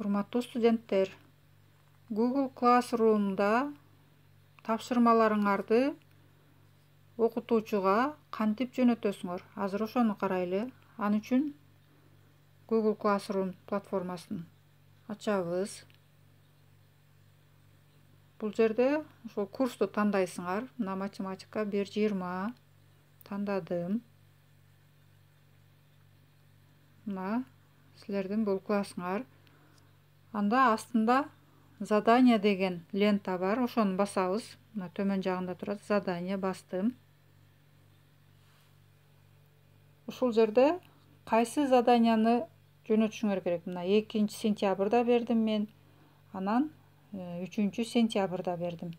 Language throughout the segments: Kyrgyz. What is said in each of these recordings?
Урматтуу студенттер, Google Classroom'da тапшырмаларыңарды окутуучуга кантип жөнөтөсүңөр? Азыр ошону карайлы. Ал үчүн Google Classroom платформасын ачабыз. Бул жерде ошол курсту тандайсыңар. Мына математика 1.20 тандадым. Мына силердин бул классыңар. Анда астында задание деген лента бар. Ошону басабыз. Мына төмөн жагында турат. Задание бастым. Ушул жерде кайсы заданияны жөнөтүшүңөр керек? Мына 2-сентябрда бердим мен. Анан 3-сентябрда бердим.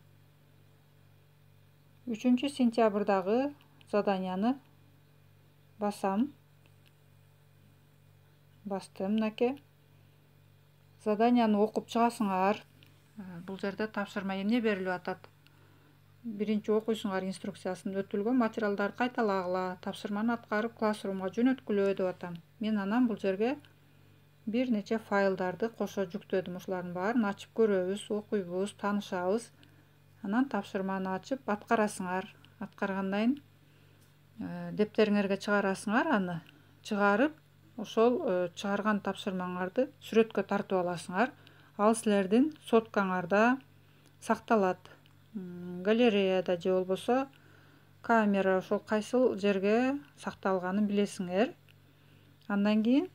3-сентябрдагы заданияны басам. Бастым, мынакей. Заданияны окуп чыгасыңар. Бул жерде тапшырма эмне берилип атат? Биринчи окуйсуңар инструкциясын. Өтүлгөн материалдарды кайталагыла, тапшырманы аткарып классрумга жөнөткүлө деп атам. Мен анан бул жерге бир нече файлдарды кошо жүктөдүм. Ушулардын баарын ачып көрөбүз, окуйбуз, таанышабыз. Анан тапшырманы ачып аткарасыңар. Аткаргандан кийин дептериңерге чыгарасыңар аны. Чыгарып, ошол чыгарган тапшырмаңарды сүрөткө тартып аласыңар. Ал силердин соткаңарда сакталат. Галереяда же болбосо камера, ошол кайсыл жерге сакталганын билесиңер. Андан кийин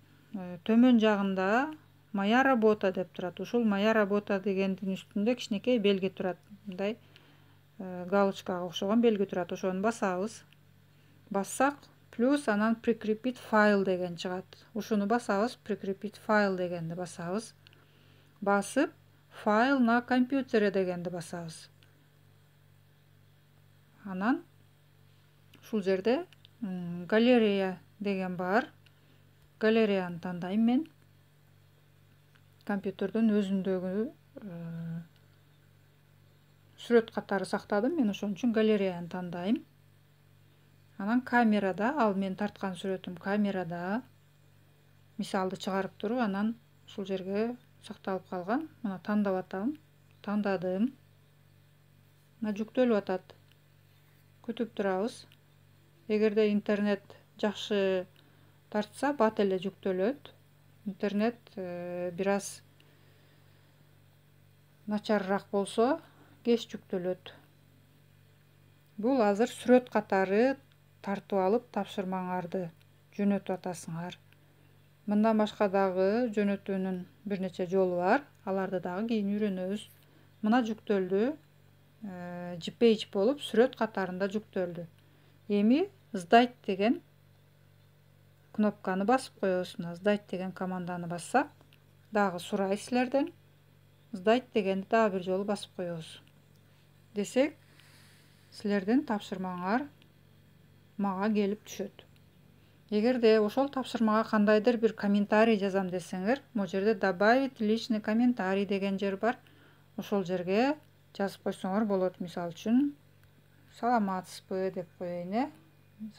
төмөн жагында моя работа деп турат. Ушул моя работа дегендин үстүндө кичинекей белги турат. Мындай галочкага окшогон белги турат. Ошону басабыз. Бассак, плюс анан prikрепить файл деген чыгат. Ушуну басабыз, prikрепить файл дегенди басабыз. Басып, файл на компьютере дегенди басабыз. Анан ушул жерде галерея деген бар. Галереяны тандайм мен. Компьютердин өзүндөгү сүрөт катары сактадым. Мен ошон үчүн галереяны тандайм. Анан камерада, ал мен тарткан сүрөтүм камерада. Мисалды чыгарып туруп, анан ушул жерге сакталып калган. Мына тандап атам. Тандадым. Мына жүктөлүп атат. Күтүп турабыз. Эгерде интернет жакшы тартса, бат эле жүктөлөт. Интернет бир аз начарыраак болсо, кеч жүктөлөт. Бул азыр сүрөт катары тартып алып тапшырмаңарды жөнөтүп атасыңар. Мындан башка дагы жөнөтүүнүн бир нече жолу бар. Аларды дагы кийин үйрөнөбүз. Мына жүктөлдү. JPEG болуп сүрөт катарында жүктөлдү. Эми сдать деген кнопканы басып коебуз. Сдать деген команданы бассак, дагы сурайт силерден. Сдать дегенди дагы бир жолу басып коебуз. Десек, силердин тапшырмаңар мага келип түшөт. Эгерде ошол тапшырмага кандайдыр бир комментарий жазам десеңер, могу жерде добавить личный комментарий деген жер бар. Ошол жерге жазып койсоңор болот. Мисалы үчүн, саламатсызбы деп коеюн,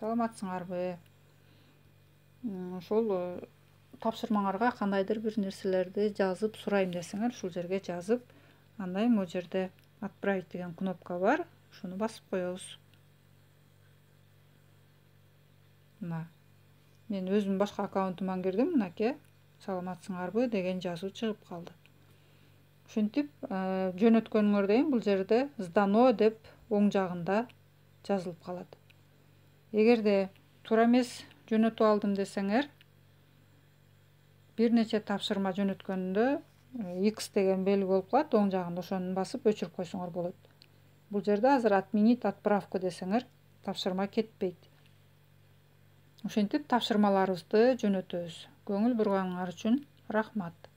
саламатсыңарбы? Ошол тапшырмаңарга кандайдыр бир нерселерди жазып сурайм десеңер, ушул жерге жазып, андай могу жерде отправить деген кнопка бар. Ушуну басып коебуз. Мына мен өзүм башка аккаунтуман кирдим. Мынакей, саламатсыңарбы деген жазуу чыгып калды. Ушинтип жөнөткөнүңөрдөн кийин бул жерде сдано деп оң жагында жазылып калат. Эгерде туура эмес жөнөтүп алдым десеңер, бир нече тапшырма жөнөткөндө X деген белги болуп калат оң жагында. Ошону басып өчүрүп койсоңор болот. Бул жерде азыр отменить отправку десеңер, тапшырма кетпейт. Ушинтип тапшырмаларыбызды жөнөтөбүз. Көңүл бурганыңар үчүн рахмат.